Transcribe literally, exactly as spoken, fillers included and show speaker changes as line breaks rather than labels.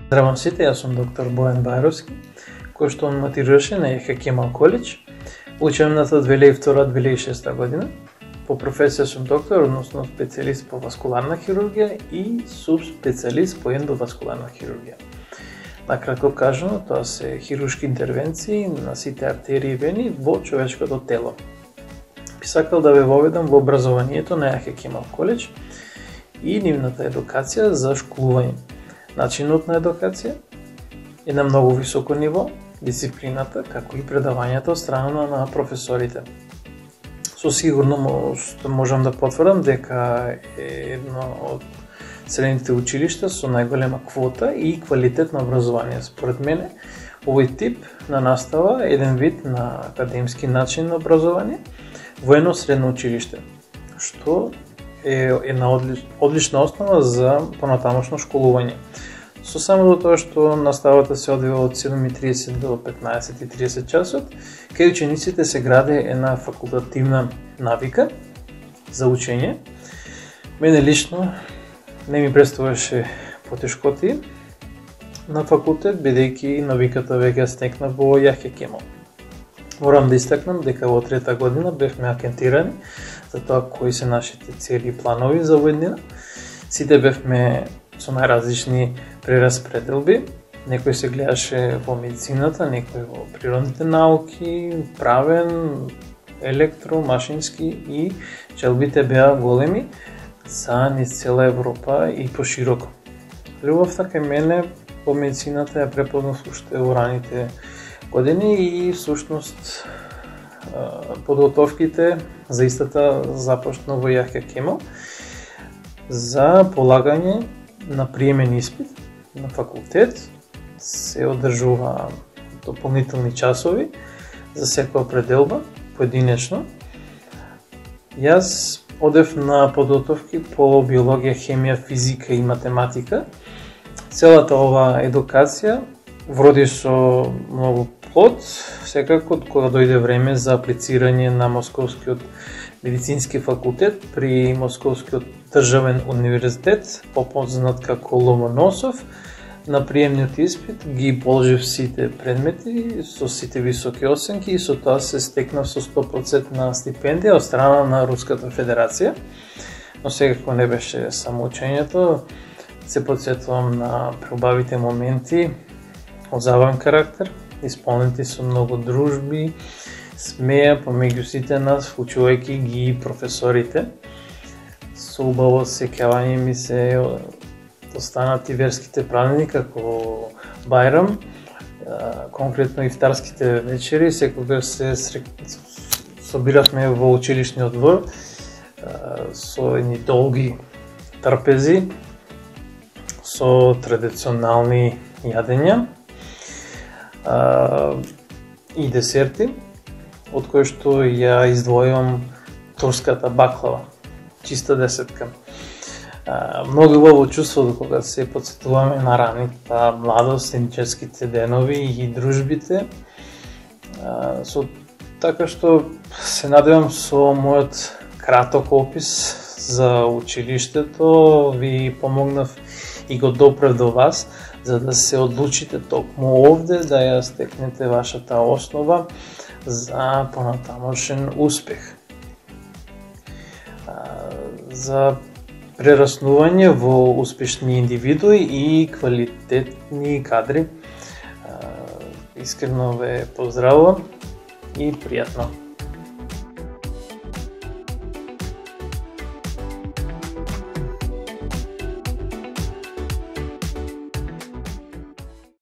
Здравам сите, јас сум доктор Бојан Бајровски, кој што матираше на Јахја Кемал коледж, учебната две илјади и втора - две илјади и шеста година. По професија сум доктор, односно специјалист по васкуларна хирургија и субспецијалист по ендоваскуларна хирургија. Накратко кажано, тоа се хируршки интервенции на сите артерии и вени во човечкото тело. Би сакал да ве воведам во образованието на Јахја Кемал коледж и нивната едукација за школување. Начинот на едукација е на многу високо ниво, дисциплината, како и предавањата од страна на професорите. Со сигурност можам да потврдам дека е едно од средните училишта со најголема квота и квалитет на образование. Според мене, овој тип на настава е еден вид на академски начин на образование во едно средно училиште, што е една одлич, одлична основа за понатамошно школување. Со само до тоа што наставата се одвива од седум и тридесет до петнаесет и тридесет часот, кај учениците се гради една факултативна навика за учење. Мене лично не ми представуваше потешкоти на факултет, бидејќи навиката веќе стекнав во Јахја Кемал. Морам да истакнам дека во трета година бевме акентирани за тоа кои се нашите цели и планови за овој ден. Сите бевме со најразлични прераспределби. Некој се гледаше во медицината, некој во природните науки, правен, електро, машински и желбите беа големи за низ цела Европа и пошироко. Љубовта кај мене во медицината ја препознав уште во раните години и всушност подготовките за истата започна во Јахја Кемал за полагање на приемен испит на факултет. Се одржува дополнителни часови за секоја пределба поединечно. Јас одев на подготовки по биологија, хемија, физика и математика. Целата ова едукација вроди со многу плод, секако кога дојде време за аплицирање на Московскиот медицински факултет при Московскиот државен универзитет, попознат како Ломоносов. На приемниот испит ги положив сите предмети со сите високи оценки и со тоа се стекнав со сто проценти на стипендија од страна на Руската Федерација. Но секако не беше само учењето, се потсетувам на преубавите моменти од забавен карактер, исполнети со многу дружби, смеја помеѓу сите нас, вклучувајќи ги професорите. Со убаво сеќавање ми се останати верските празници како Бајрам, конкретно ифтарските вечери, секогаш се собиравме во училишниот двор со едни долги трпези, со традиционални јадења и десерти, од кои што ја издвојувам турската баклава, чиста десетка. Многу убаво чувство кога се потсетуваме на раната младост, студенческите денови и дружбите. Со така што се надевам со мојот краток опис за училиштето ви помогнав и го допрев до вас, за да се одлучите токму овде, да ја стекнете вашата основа за понатамошен успех. За прераснување во успешни индивидуи и квалитетни кадри. Искрено ве поздравувам и пријатно.